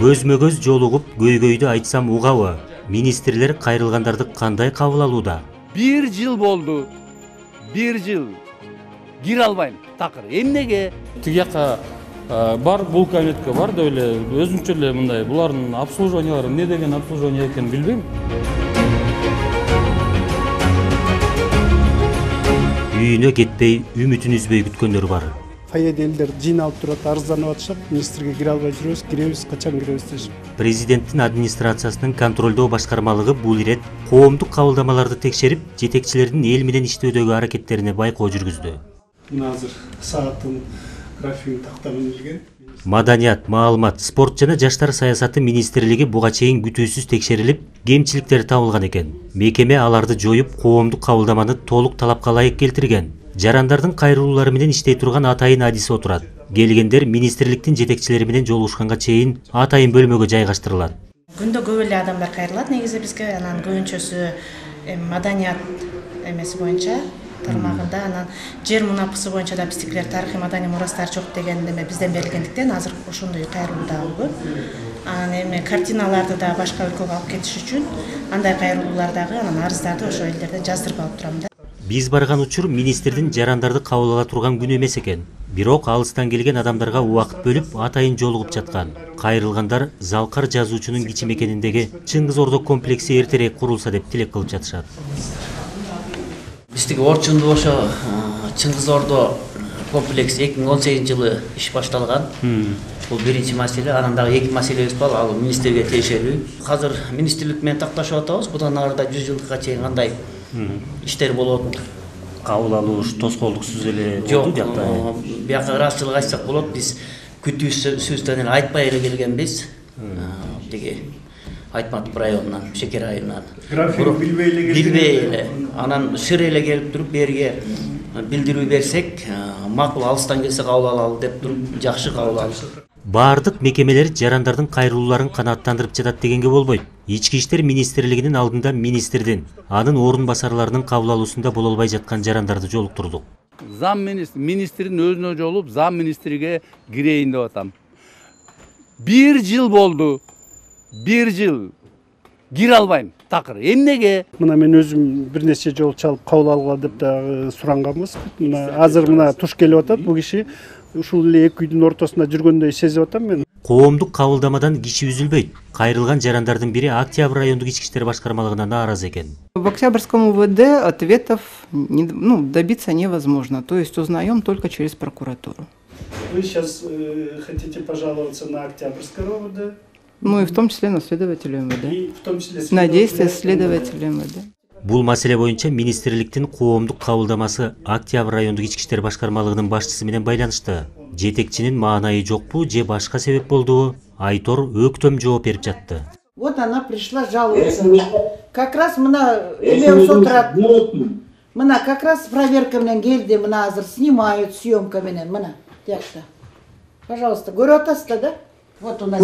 Көзмө көз жолугуп көйгөйдү айтсам угабы? Министрлер кайрылгандарды кандай кабыл алууда? 1 жыл болду. 1 жыл. Кире албайм. Такыр. Эмнеге? Тигияка бар, бул кабинетке бар деп эле өзүнчө эле мындай булардын обслуживаниялары эмне деген обслуживание экенин билбейм. Үйүнө кетпей, үмүтүн үзбөй күткөндөр бар. Фойеде элдер жыйналып турат, арызданып атышат. Министрге кире албай жүрөбүз, киребиз, качан киребиз дешип. Президенттин администрациясынын контролдоо башкармалыгы бул ирет коомдук кабылдамаларды текшерип, жетекчилердин эл менен иштөөдөгү аракеттерине байкоо жүргүздү. Мына азыр сааттын графигин тактап илген. Маданият, маалымат, спорт жана жаштар саясаты министрлиги буга чейин күтүүсүз текшерилип, кемчиликтер табылган экен. Мекеме аларды жоюп, коомдук кабылдаманы толук талапка ылайык келтирген. Жарандардын кайрылуулары менен иштей турган атайын адиси отурат. Келгендер министрликтин жетекчилери менен жолугушканга чейин атайын бөлмөгө жайгаштырылат. Күндө көп эле адамдар кайрылат негизи бизге, анан көбүнчөсү маданият эмеси боюнча тармагында, анан жер мунапысы боюнча да биздикилер тарыхый маданий мурастар жок деген эме бизден берилгендиктен азыр ошондой кайрылуу да көп. Анан эми картиналарды да башка өлкөгө алып кетиш үчүн андай кайрылуулар дагы, анан арыздарды ошо элдерден жаздырып алып турам да. Биз барган учур министрдин жарандарды кабыл ала турган күнү эмес экен. Бирок алыстан келген адамдарга убакыт бөлүп атайын жолугуп жаткан. Кайрылгандар Залкар жазуучунун кичи мекениндеги Чыңгыз Ордо комплекси эртерээк курулса деп тилек кылып жатышат. Биздики Орчунду ошо Чыңгыз Ордо комплекси 2018 жылы иш башталган. Бул биринчи маселе, анан дагы эки маселебиз бар, ал министрге тиешелүү. Азыр министрлик менен такташып атабыз, будан арыда 100 жылга чейин кандай иштер болот. Кабыл алуу тоскоолдуксуз эле болду жакта. Бияка ырасчылык айтсак болот, биз күтүүсүздөн эле айтпай эле келгенбиз. Тиги Айтматов районунан, Шекер районунан. График билбей эле. Анан шыр эле келип туруп берге билдирүү берсек, макул алыстан келсе кабыл алалы деп туруп жакшы кабыл алышат. Бардык мекемелер жарандардын кайрылууларын канааттандырып жатат дегенге болбойт. Ички иштер министрлигинин алдында министрдин, анын орун басарларынын кабыл алуусунда боло албай жаткан жарандарды жолуктурдук. Зам министрдин өзүнө жолуп, зам министрге кирейин деп атам. 1 жыл болду. 1 жыл. Кире албайм. Такыр. Эмнеге? Мына мен өзүм бир нече жолу чалып кабыл алгыла деп да суранганбыз. Мына азыр мына туш келип атат, бул киши ушул эле эки үйдүн ортосунда жүргөндөй сезип атам мен. Коомдук кабылдамадан киши үзүлбөйт. Кайрылган жарандардын бири Октябрь райондук ички иштер башкармалыгына нааразы экен. В Октябрьском УВД ответов добиться невозможно, то есть узнаем только через прокуратуру. Вы сейчас хотите пожаловаться на Октябрьское УВД? Ну и в том числе на следователя МВД. И в том числе на действия следователя МВД. Бул маселе боюнча министрликтин коомдук кабылдамасы Октябрь райондук ички иштер башкармалыгынын башчысы менен байланышты. Жетекчинин маанайы жокпу же башка себеп болдубу? Айтор өктөм жооп берип жатты. Вот она пришла жаловаться. Как раз мына эме отурат. Мына как раз проверка менен келди, мына азыр снимают съемка менен, мына. Тиякта. Пожалуйста, көрүп атасыздар да? Вот у нас.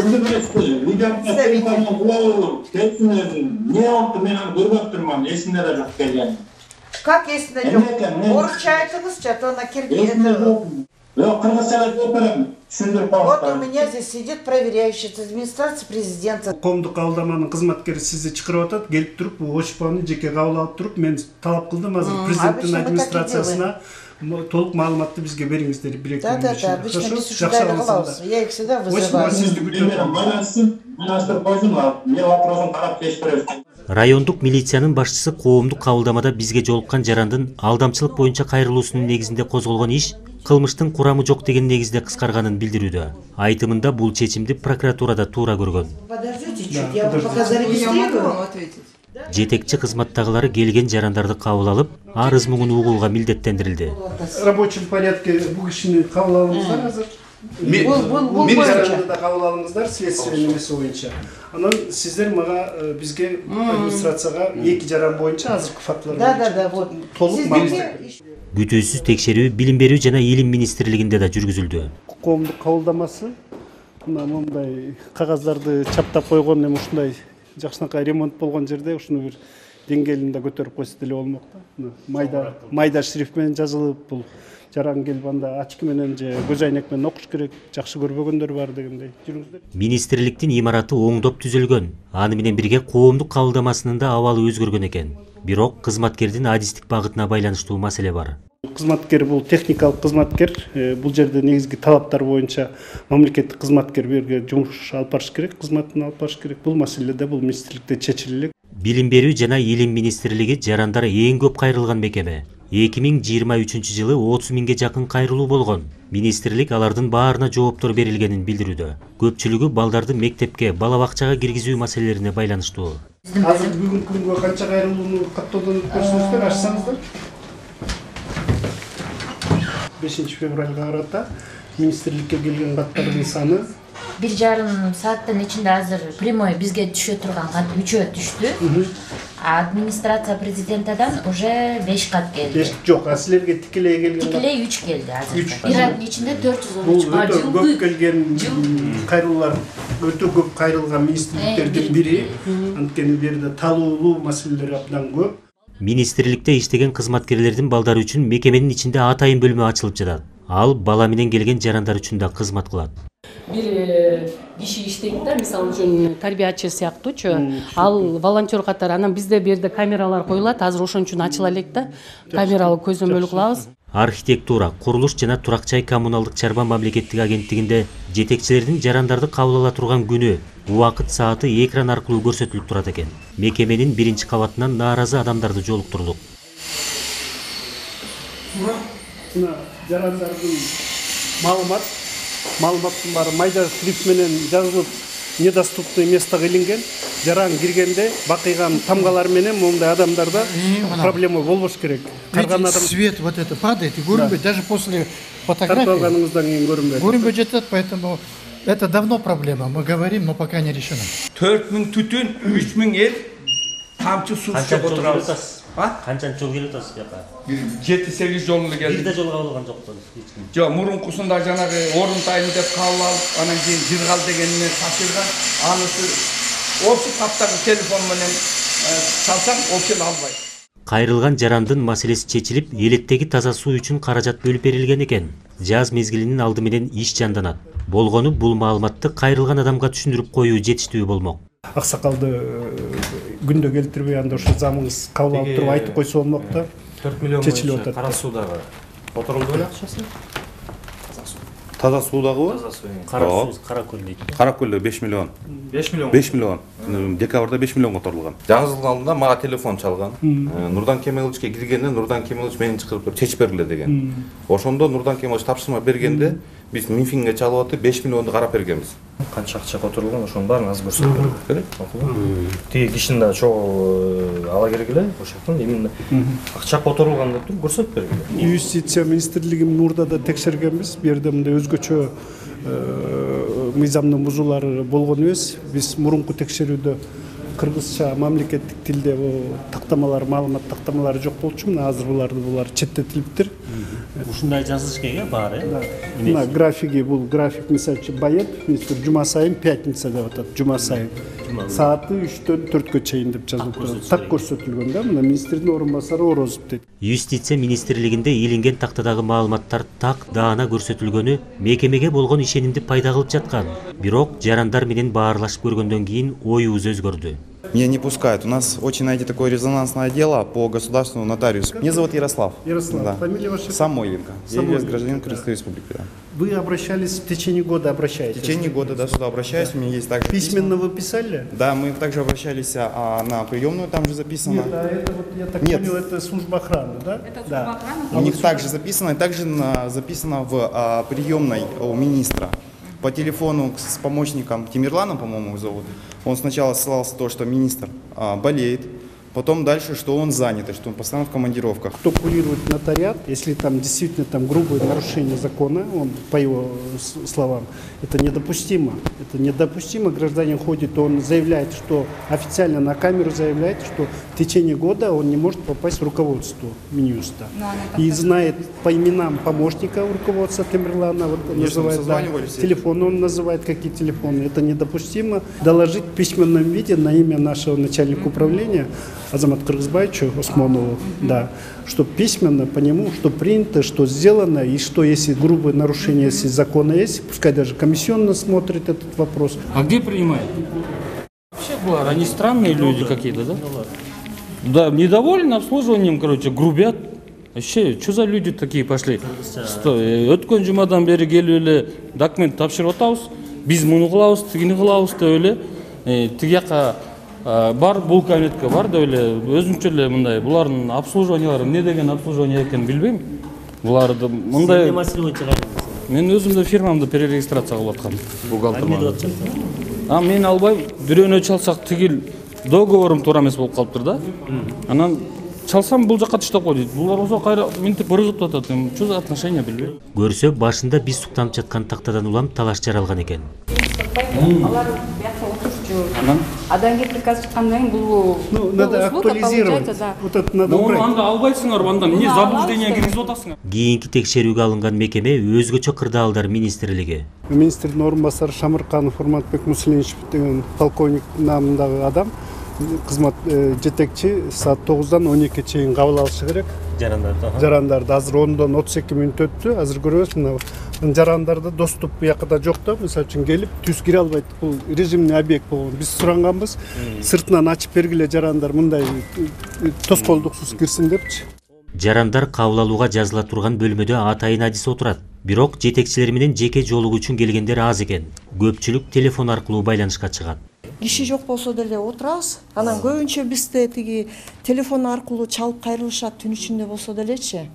Как есінде жоқ? Орысша айтыңызшы, то на киргизский. Вот у меня здесь сидит проверяющий из администрации президента. Коомдук кабылдаманын кызматкери сизди чакырып атат, келип туруп, ошпаны жеке кабыл алып туруп, мен талап кылдым азыр президенттин администрациясына толук маалыматты бизге бериңиздер, бир-эки күн ичинде. Да, обычно без ушундай кылабыз. Я их всегда вызываю. Райондук милициянын башчысы коомдук кабылдамада бизге жолуккан жарандын алдамчылык боюнча кайрылуусунун негизинде козголгон иш кылмыштын курамы жок деген негизде кыскарганын билдирүүдө. Айтымында бул чечимди прокуратурада туура көргөн. Подождите чуть, я вам пока зарегистрирую. Жетекчи кызматтагылары келген жарандарды кабыл алып, арыз муңун угууга милдеттендирилди. В рабочем порядке бул кишини кабыл алыңыздар азыр. Бул жаранды да кабыл алыңыздар следствие немеси боюнча. Анан сиздер мага бизге администрацияга эки жаран боюнча азыркы фактылар боюнча. Да, вот. Толук маалымат. Күтүүсүз текшерүү Билим берүү жана Илим министрлигинде да жүргүзүлдү. Коомдук кабылдамасы мындай кагаздарды чаптап койгон, эми ушундай жакшынакай ремонт болгон жерде ушуну бир деңгээлинде көтөрүп койсо деле болмок да. Майда шрифт менен жазылып, бул жаран келип анда очки менен же көз айнек менен окуш керек, жакшы көрбөгөндөр бар дегендей. Жүрүңүздөр. Министрликтин имараты оңдоп түзүлгөн. Аны менен бирге коомдук кабылдамасынын да абалы өзгөргөн экен. Бирок кызматкердин адистик багытына байланыштуу маселе бар. Кызматкер бул техникалык кызматкер. Бул жерде негизги талаптар боюнча мамлекеттик кызматкер берге жумуш алып барыш керек, кызматын алып барыш керек. Бул маселеде бул министрликте чечилет. Билим берүү жана илим министрлиги жарандар эң көп кайрылган мекеме. 2023 жылы 30 миңге жакын кайрылуу болгон. Министрлик алардын баарына жооптор берилгенин билдирүүдө. Көпчүлүгү балдарды мектепке, бала бакчага киргизүү маселелерине байланыштуу. Азыр бүгүнкү күнгө канча кайрылууну каттоодон көрсөңүздөр, ачсаңыздар. 5 февралга карата министрликке келген каттардын саны 1,5 сааттын ичинде азыр прямой бизге түшө турган кат 3 түштү. Администрация президентадан уже 5 кат келди. 5 жок, силерге тикелей келген. Тикелей 3 келди азыр. Бир айдын ичинде 413 бар. Бул көп келген кайрылуулар, өтө көп кайрылган министрликтердин бири. Анткени бу жерде талуулуу маселелер абдан көп. Министрликте иштеген кызматкерлердин балдары үчүн мекеменин ичинде атайын бөлмө ачылып жатат. Ал бала менен келген жарандар үчүн да кызмат кылат. Бир киши иштейт да, мисалы үчүн тарбиячы сыяктуучу, ал волонтер катары. Анан бизде бу жерде камералар коюлат, азыр ошон үчүн ачыла элек да. Камералуу көзөмөл кылабыз. Архитектура, курулуш жана турак жай коммуналдык чарба мамлекеттик агенттигинде жетекчилердин жарандарды кабыл ала турган күнү, убакыт сааты экран аркылуу көрсөтүлүп турат экен. Мекеменин 1-кабатынан нааразы адамдарды жолуктурдук. Жарандардын маалыматтын баары майда шрифт менен жазылып, недоступный местого илинген. Жаран киргенде бакыйган тамгалар менен мондай адамдарда проблема болбош керек. Свет вот это падает и көрүнбөйт, даже после фотографии. Тартылганыңыздан кийин көрүнбөйт. Көрүнбөй жатат, поэтому это давно проблема. Мы говорим, но пока не решено. 4000 түтүн, 3000 эл тамчы суу içip отурабыз. Канча жол келип атасыз жака? 7-8 жол келди. Бир да жолго кабылган жокпу эч ким. Жок, мурункусунда жанагы орунтайын деп кабыл алып, анан кийин жыргал дегенмен ташылган. Анысы осы таптагы телефон менен чалсаң, ол сени албайт. Кайрылган жарандын маселеси чечилип, элеттеги таза суу үчүн каражат бөлүп берилген экен. Жаз мезгилинин алды менен иш жанданат. Болгону бул маалыматты кайрылган адамга түшүндүрүп коюу жетиштүү болмок. Аксакалды күндө келтирбей анда ошо замыңыз кабыл алып туруп айтып койсо болмок да. 4 миллион чечилип кара суудагы которулду беле акчасы? Таза суудагы? Таза суу. Кара көл дейт. Кара көлдө 5 миллион. 5 миллион. 5 миллион. Декабрда 5 миллион которулган. Жаңы жылдын алдында мага телефон чалган. Нурдан Кемеловичке киргенде Нурдан Кемелович мени чакырып чечип бергиле деген. Ошондо Нурдан Кемелович тапшырма бергенде биз Минфинге чалып атып 5 миллионду карап бергенбиз. Канча акча которулган, ошонун баарын азыр көрсөтүп берет. Тиги кишини да чогуу ала керек эле, ошондон именно акча которулган деп туруп көрсөтүп бергиле. Юстиция министрлигин Нурда да текшергенбиз. Бу жерде мындай өзгөчө мыйзамдын бузуулары болгон эмес. Биз мурунку текшерүүдө кыргызча мамлекеттик тилде тактамалар, маалымат тактамалары жок болчу. Мына азыр булар четтетилиптир. Ушундай жазылыш керек баары. Мына графиги, бул график мисалы Баев, министр жума сайын пятница деп атат, жума сайын. Сааты 3-төн 4-кө чейин деп жазылып турат. Так көрсөтүлгөн да, мына министрдин орун басары Орозов дейт. Юстиция министрлигинде илинген тактадагы маалыматтар так даана көрсөтүлгөнү мекемеге болгон ишенимди пайда кылып жаткан. Бирок жарандар менен баарлашып көргөндөн кийин оюбуз өзгөрдү. Меня не пускают. У нас очень, знаете, такое резонансное дело по государственному нотариусу. Меня зовут Ярослав. Ярослав, да. Фамилия ваша? Самойленко. Я являюсь гражданином Крымской республики. Да. Вы обращались в течение года, обращаетесь? В течение года, да, сюда обращаюсь. У меня есть также письменно вы писали? Да, мы также обращались на приемную, там же записано. Нет, это вот, я так понял, это служба охраны, да? Это служба охраны? У них также записано, и также записано в приемной у министра. По телефону с помощником Тимирланом, по-моему, зовут. Он сначала ссылался на то, что министр болеет, потом дальше, что он занят, и что он постоянно в командировках. Кто курирует нотариат, если там действительно там грубое нарушение закона, он, по его словам, это недопустимо. Это недопустимо. Гражданин ходит, он заявляет, что официально на камеру заявляет, что в течение года он не может попасть в руководство Минюста. И знает по именам помощника руководства Тимирлана, вот, называет, да, телефон, он называет какие телефоны. Это недопустимо. Доложить в письменном виде на имя нашего начальника управления Азамат Кыргызбаевичу Осмонову, да, что письменно по нему, что принято, что сделано, и что если грубое нарушение, если закона есть, пускай даже комиссионно смотрит этот вопрос. А где принимают? Вообще было, они странные люди какие-то, да? Да, недовольны обслуживанием, короче, грубят. Вообще, что за люди такие пошли? Өткөн жумадан бери келип эле документ тапшырып атабыз. Биз муну кылабыз, тигини кылабыз деп эле. Тиги жака бар, бул кабинетке бар деп эле өзүнчө эле мындай булардын обслуживаниялары эмне деген обслуживание экенин билбейм. Буларды мындай Сен маселе боюнча кайда? Мен өзүм да фирмамды перерегистрация кылып аткам. Бухгалтерман. Мен албайм. Бирөөнө чалсак тигил договорум туура эмес болуп калыптыр да. Анан чалсам бул жакка таштап кой дейт. Булар болсо кайра минтип ыргытып атат. Что за отношение билбейм. Көрсө башында биз суктанып жаткан тактадан улам талаш жаралган экен. Алар бияка отурчу. Адан кийин приказ чыккандан кийин бул надо актуализировать. Вот это надо убрать. Анда албайсыңар, андан эмне заблуждение киргизип атасыңар? Кийинки текшерүүгө алынган мекеме өзгөчө кырдаалдар министрлиги. Министрдин орун басары Шамырканов Урматбек Муслимович деген полковник намындагы адам кызмат жетекчи саат 9-дан 12-ге чейин кабыл алышы керек. Жарандарды азыр 10-дан 32 мүнөт өттү. Азыр көрөбүз, мына жарандарда доступ буякта жок да, мисалы үчүн келип түз кире албайт. Бул режимный объект болгон. Биз суранганбыз, сыртынан ачып бергиле жарандар мындай тоскоолдуксуз кирсин депчи. Жарандар кабыл алууга жазыла турган бөлмөдө атайын адис отурат. Бирок жетекчилер менен жеке жолугуу үчүн келгендер аз экен. Көпчүлүк телефон аркылуу байланышка чыгат. Киши жок болсо деле отурабыз. Анан көбүнчө бизде тиги телефон аркылуу чалып кайрылышат түн ичинде болсо делечи.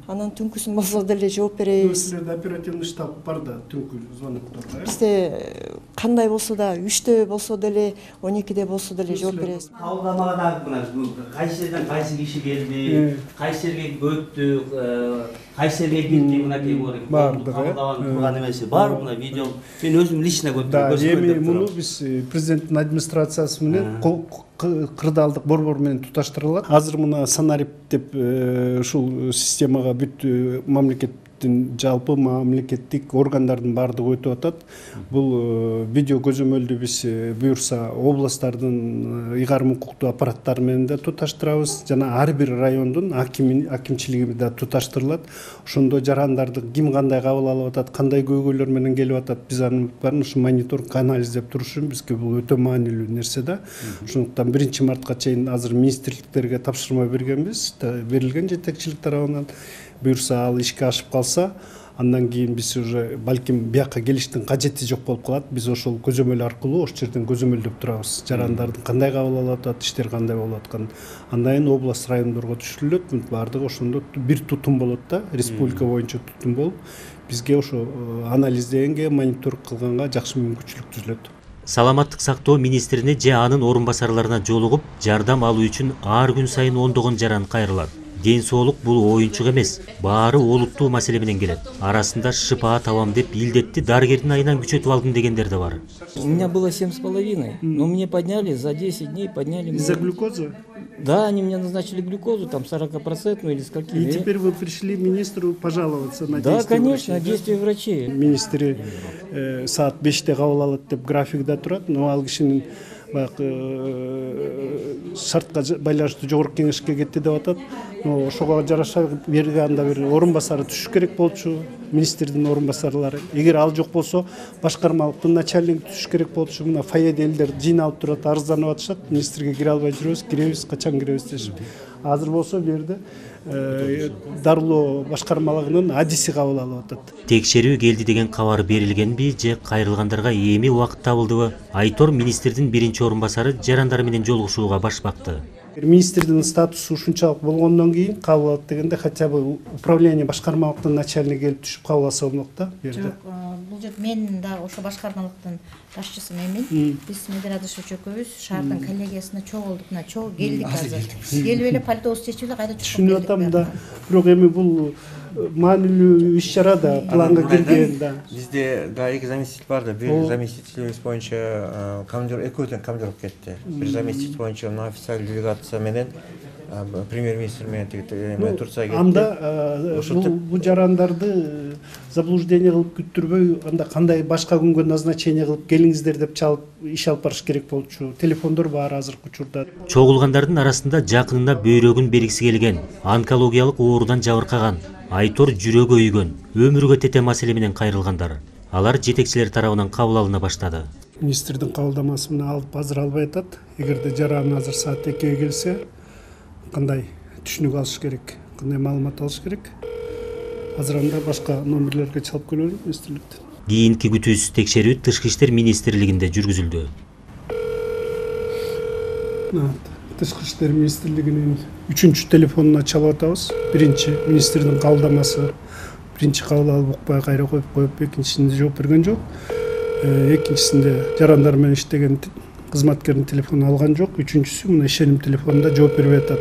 Анан түнкүсүн болсо деле жооп беребиз. Силерде оперативный штаб бар да, түнкү звоноктор. Бизде кандай болсо да 3-тө болсо деле 12-де болсо деле жооп беребиз. Кабылдамаган мына кайсы жерден кайсы киши келди, кайсы жерге өттү, кайсы жерге кирди, мынакей кабылдаган турган эмеси бар, мына видео. Мен өзүм лично эми муну биз президенттин администрациясы менен кырдаалдык борбор менен туташтырылат. Азыр мына Санарип деп ушул системага бүт мамлекеттин жалпы мамлекеттик органдардын баардыгы өтүп атат. Бул видео көзөмөлдү биз буюрса областтардын ыйгарым укуктуу аппараттары менен да туташтырабыз. Жана ар бир райондун акимчилиги да туташтырылат. Ошондо жарандарды ким кандай кабыл алып атат, кандай көйгөйлөр менен келип атат, биз анын баарын ушу мониторинг анализдеп туруш үчүн бизге бул өтө маанилүү нерсе да. Ошондуктан 1-мартка чейин азыр министрликтерге тапшырма бергенбиз, берилген жетекчилик тарабынан. Буюрса ал ишке ашып калса, андан кийин биз уже балким бияка келиштин кажети жок болуп калат. Биз ошол көзөмөл аркылуу ошол жерден көзөмөлдөп турабыз. Жарандардын кандай кабыл алып атат, иштер кандай болуп аткан. Андан кийин область райондорго түшүрүлөт. Баардыгы ошондо бир тутум болот да, республика боюнча тутум болуп, бизге ошо анализдегенге, мониторинг кылганга жакшы мүмкүнчүлүк түзүлөт. Саламаттык сактоо министрине же анын орун басарларына жолугуп, жардам алуу үчүн ар күн сайын ондогон жаран кайрылат. Ден соолук бул оюнчук эмес, баары олуттуу маселе менен келет. Арасында шыпаа табам деп илдетти дарыгердин айынан күчөтүп алдым дегендер да бар. У меня было 7,5, но мне подняли за 10 дней, подняли. Из-за глюкозы? Да, они мне назначили глюкозу, там 40% или с какими. И теперь вы пришли министру пожаловаться на действия врачей? Да, конечно, действия врачей. Министри саат 5-те кабыл алат деп графикте турат, но ал кишинин шартка байланыштуу жогорку кеңешке кетти деп атат. Ошого жараша берге анда бир орун басары түшүш керек болчу, министрдин орун басарлары. Эгер ал жок болсо, башкармалыктын начальниги түшүш керек болчу. Мына фойеде элдер жыйналып турат, арызданып атышат. Министрге кире албай жүрөбүз, киребиз, качан киребиз дешип. Азыр болсо бу жерде дарылоо башкармалыгынын адиси кабыл алып атат. Текшерүү келди деген кабар берилгенби же кайрылгандарга эми убакыт табылдыбы? Айтор министрдин биринчи орун басары жарандар менен жолугушууга баш бакты. Министрдин статусу ушунчалык болгондон кийин кабыл алат дегенде хотя бы управление башкармалыктын начальниги келип түшүп кабыл алса болмок да. Жок, бул жер мен да ошо башкармалыктын башчысы менмин. Биз Медерадышев экөөбүз шаардын коллегиясына чогулдук, мына чогуу келдик азыр. Келип эле пальтобузду чечип эле кайда чыгып түшүнүп атам да. Бирок эми бул маанилүү иш чара да, планга кирген да. Бизде да эки заместитель бар да, бир заместителибиз боюнча командир экөөдөн командировка кетти. Бир заместитель боюнча мына официалдуу делегация менен премьер-министр менен Турцияга кетти. Анда бул жарандарды заблуждение кылып күттүрбөй, анда кандай башка күнгө назначение кылып келиңиздер деп чалып иш алып барыш керек болчу. Телефондор бар азыркы учурда. Чогулгандардын арасында жакынына бөйрөгүн бергиси келген, онкологиялык оорудан жабыркаган, айтор жүрөгү өйгөн, өмүргө тете маселе менен кайрылгандар. Алар жетекчилер тарабынан кабыл алына баштады. Министрдин кабылдамасы менен алып азыр албай атат. Эгерде жаран азыр саат 2-ге келсе, кандай түшүнүк алыш керек, кандай маалымат алыш керек. Азыр анда башка номерлерге чалып көрөлүм министрликтен. Кийинки күтүүсүз текшерүү Тышкы иштер министрлигинде жүргүзүлдү. Тышкы иштер министрлигинин 3-чү телефонуна чалып атабыз. Биринчи министрдин кабылдамасы, биринчи кабыл алып укпай кайра коюп, экинчисинде жооп берген жок. Экинчисинде жарандар менен иштеген кызматкердин телефонун алган жок. Үчүнчүсү мына ишеним телефонунда жооп бербей атат.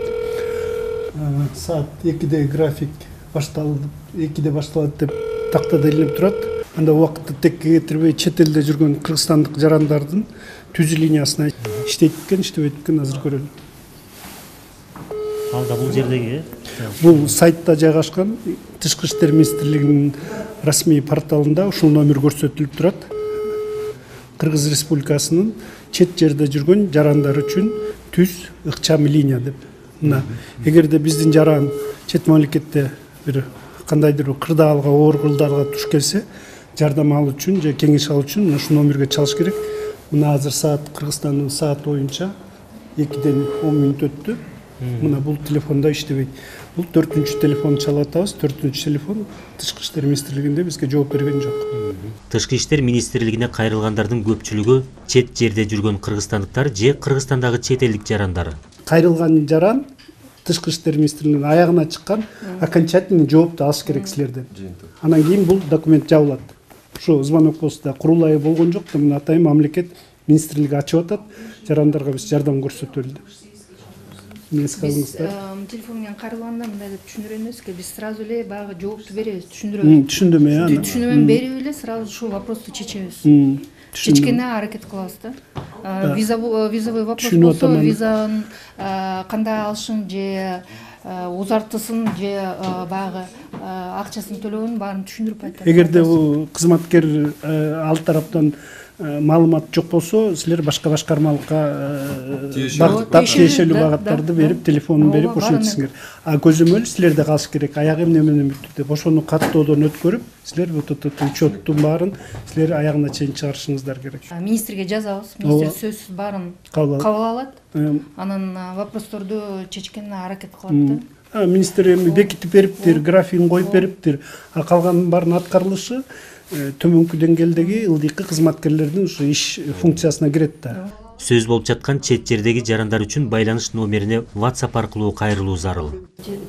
Саат 2-де график башталды, 2-де башталат деп тактада илинип турат. Анда убакытты текке кетирбей чет элде жүргөн кыргызстандык жарандардын түзүү линиясына иштейт экен, иштебейт экен, азыр көрөлү. Анда бул жердеги бул сайтта жайгашкан Тышкы иштер министрлигинин расмий порталында ушул номер көрсөтүлүп турат. Кыргыз Республикасынын чет жерде жүргөн жарандар үчүн түз ыкчам линия деп. Мына эгерде биздин жаран чет мамлекетте бир кандайдыр кырдаалга, оор кырдаалга туш келсе, жардам алуу үчүн же кеңеш алуу үчүн ушул номерге чалыш керек. Мына азыр саат Кыргызстандын саат боюнча 2-ден 10 мүнөт өттү. Мына бул телефонда иштебейт. Бул 4-чү телефон чалып атабыз. 4-чү телефон Тышкы иштер министрлигинде бизге жооп берген жок. Тышкы иштер министрлигине кайрылгандардын көпчүлүгү чет жерде жүргөн кыргызстандыктар же Кыргызстандагы чет элдик жарандар. Кайрылган жаран Тышкы иштер министрлигинин аягына чыккан окончательный жоопту алыш керек силерден. Анан кийин бул документ жабылат. Ушу звонок болсо курулайы болгон жок, мына атайын мамлекет министрлиги ачып атат. Жарандарга биз жардам көрсөтөлү деп. Биз телефон менен кайрылганда мындай деп түшүндүрөбүз, биз сразу эле баягы жоопту беребиз, түшүндүрөбүз. Түшүндүмө Түшүндүрмө берип эле сразу ушул вопросту чечебиз. Чечкенде аракет кылабыз да. Визовый вопрос болсо, визанын кандай алышын же узартысын же баягы акчасын төлөөгөнүн баарын түшүндүрүп айтат. Эгерде бул кызматкер ал тараптан маалымат жок болсо, силер башка башкармалыкка тиешелүү багыттарды берип, телефонун берип ошентисиңер. А көзөмөл силерде калыш керек. Аягы эмне менен бүттү деп ошону каттоодон өткөрүп, силер вот этот учеттун баарын силер аягына чейин чыгарышыңыздар керек. Министрге жазабыз. Министр сөзсүз баарын кабыл алат. Анан вопросторду чечкенге аракет кылат да. Министр эми бекитип бериптир, графигин коюп бериптир. А калганын баарын аткарылышы төмөнкү деңгээлдеги ылдыйкы кызматкерлердин ушу иш функциясына кирет да. Сөз болуп жаткан чет жердеги жарандар үчүн байланыш номерине WhatsApp аркылуу кайрылуу зарыл.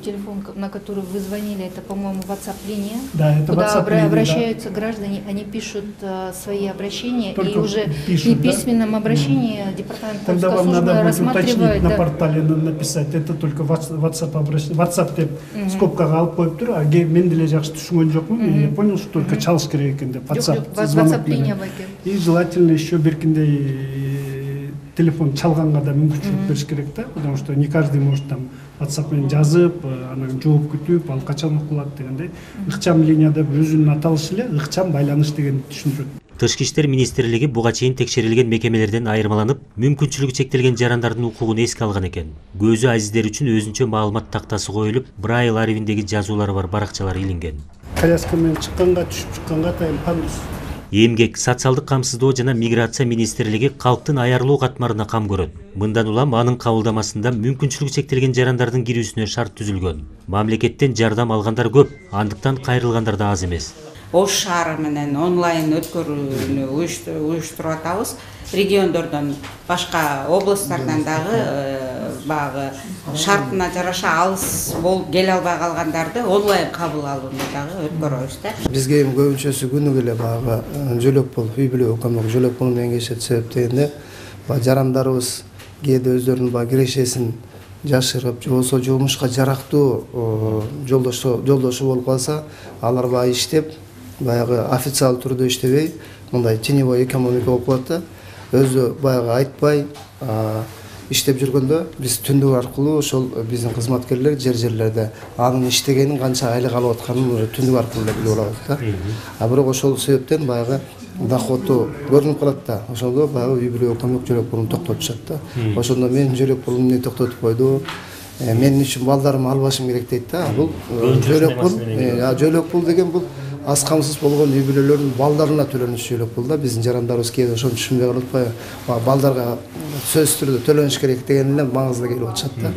Телефон, на который вы звонили, это, по-моему, WhatsApp линия. Да, это куда WhatsApp линия, обращаются граждане, они пишут свои обращения, только и уже пишут, в письменном обращении департамент Тогда консульской вам надо службы будет уточнить рассматривает. на портале написать, это только WhatsApp обращение. WhatsApp деп скобкага алып коюп тур, а мен деле жакшы түшүнгөн жокмун. Я понял, что только чалыш керек экен деп WhatsApp линия бар экен. И желательно еще биркиндей телефон чалганга да мүмкүнчүлүк бериш керек да, потому что не каждый может там WhatsApp менен жазып, анан жооп күтүп, ал качан окулат дегендей. Ыкчам линия деп өзүнүн аталышы эле ыкчам байланыш дегенди түшүндүрөт. Тышкы иштер министрлиги буга чейин текшерилген мекемелерден айырмаланып, мүмкүнчүлүгү чектелген жарандардын укугун эске алган экен. Көзү азиздер үчүн өзүнчө маалымат тактасы коюлуп, Braille арифиндеги жазуулары бар баракчалар илинген. Коляска менен чыкканга, түшүп чыкканга атайын пандус. Эмгек, социалдык камсыздоо жана миграция министрлиги калктын аярлоо катмарына кам көрөт. Мындан улам анын кабылдамасында мүмкүнчүлүгү чектелген жарандардын кирүүсүнө шарт түзүлгөн. Мамлекеттен жардам алгандар көп, андыктан кайрылгандар да аз эмес. Ош шаары менен онлайн өткөрүүнү уюштуруп атабыз. Региондордон, башка областтардан дагы баягы шартына жараша алыс болуп келе албай калгандарды онлайн кабыл алууну дагы өткөрөбүз да. Бизге эми көбүнчөсү күнүгө эле баягы жөлөк болуп, үй бүлө көмөк жөлөк болуу менен келишет. Себеп дегенде жарандарыбыз кээде өздөрүнүн баягы кирешесин жашырып, же болбосо жумушка жарактуу жолдошу болуп калса, алар баягы иштеп, баягы официалдуу түрдө иштебей, мындай теневой экономика болуп калат да. Өзү баягы айтпай, иштеп жүргөндө биз түндүк аркылуу ошол биздин кызматкерлер жерлерде анын иштегенин канча айлык алып атканын түндүк аркылуу эле билип алабыз да. А бирок ошол себептен баягы доходу көрүнүп калат да. Ошондо баягы үй бүлөгө көмөк жөлөк пулун токтотушат да. Ошондо мен жөлөк пулумду эмне токтотуп койду? Мен үчүн балдарымды албашым керек дейт да. Бул жөлөк пул деген бул аз камсыз болгон үй бүлөлөрдүн балдарына төлөнүш жөлөк пул да. Биздин жарандарыбыз кээде ошону түшүнбөй калып атпайбы? Балдарга сөзсүз түрдө төлөнүш керек деген эле маңызды келип атышат да.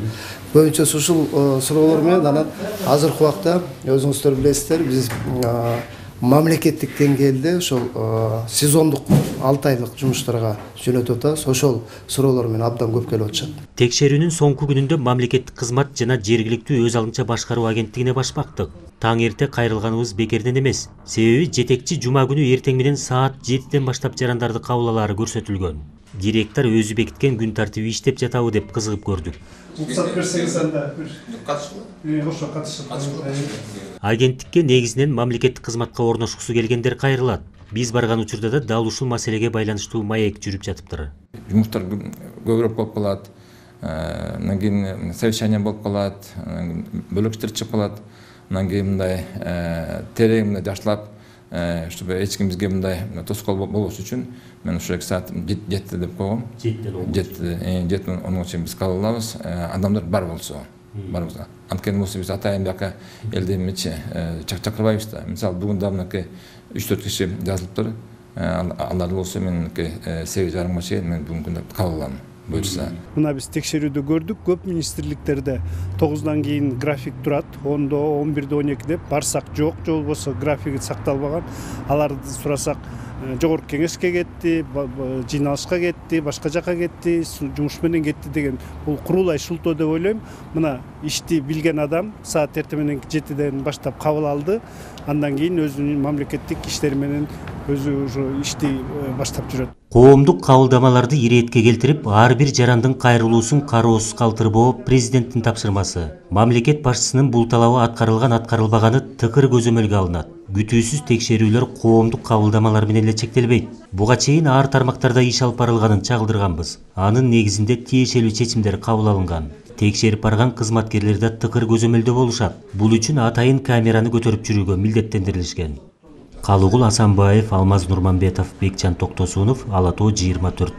Көбүнчө ушул суроолор менен анан азыркы убакта өзүңүздөр билесиздер, биз мамлекеттик деңгээлде ошол сезондук 6 айлык жумуштарга жөнөтүп атабыз. Ошол суроолор менен абдан көп келип атышат. Текшерүүнүн соңку күнүндө мамлекеттик кызмат жана жергиликтүү өз алынча башкаруу агенттигине баш бактык. Таң эрте кайрылганыбыз бекерден эмес. Себеби жетекчи жума күнү эртең менен саат 7ден баштап жарандарды кабыл алаары көрсөтүлгөн. Директор өзү бекиткен күн тартиби иштеп жатабы деп кызыгып көрдүк. Агенттикке негизинен мамлекеттик кызматка орношкусу келгендер кайрылат. Биз барган учурда да дал ушул маселеге байланыштуу маек жүрүп жатыптыр. Жумуштар көбүрөөк болуп калат, анан кийин совещание болуп калат, бөлөк иштер чыгып калат, анан кийин мындай терең мындай жакшылап, чтобы эч ким бизге мындай тоскоол болбош үчүн мен ушу 2 саат 7 деп койгом. 7 onun үчүн биз кабыл алабыз. Адамдар бар болсо. Анткени болсо биз атайын бияка элди эмечи чакырбайбыз да. Мисалы бүгүн да мынакей 3-4 киши жазылыптыр. Алар болсо мен 8:30 чейин мен бүгүнкү күндө кабыл алам. Мына биз текшерүүдө көрдүк, көп министрликтерде 9-дан кийин график турат, 10-до, 11-де, 12-де барсак жок, же болбосо графиги сакталбаган. Аларды сурасак жогорку кеңешке кетти, жыйналышка кетти, башка жака кетти, жумуш менен кетти деген бул курулай шултоо деп ойлойм. Мына ишти билген адам саат эртең менен 7ден баштап кабыл алды. Андан кийин өзүнүн мамлекеттик иштери менен өзү ошо ишти баштап жүрөт. Коомдук кабылдамаларды иретке келтирип, ар бир жарандын кайрылуусун кароосуз калтырбоо президенттин тапшырмасы. Мамлекет башчысынын бул талабы аткарылган-аткарылбаганы тыкыр көзөмөлгө алынат. Күтүүсүз текшерүүлөр коомдук кабылдамалар менен эле чектелбейт. Буга чейин ар тармактарда иш алып барылганын чагылдырганбыз. Анын негизинде тиешелүү чечимдер кабыл алынган. Текшерип барган кызматкерлер да тыкыр көзөмөлдө болушат. Бул үчүн атайын камераны көтөрүп жүрүүгө милдеттендирилишкен. Калыгул Асанбаев, Алмаз Нурманбетов, Бекжан Токтосунов, Ала Тоо 24.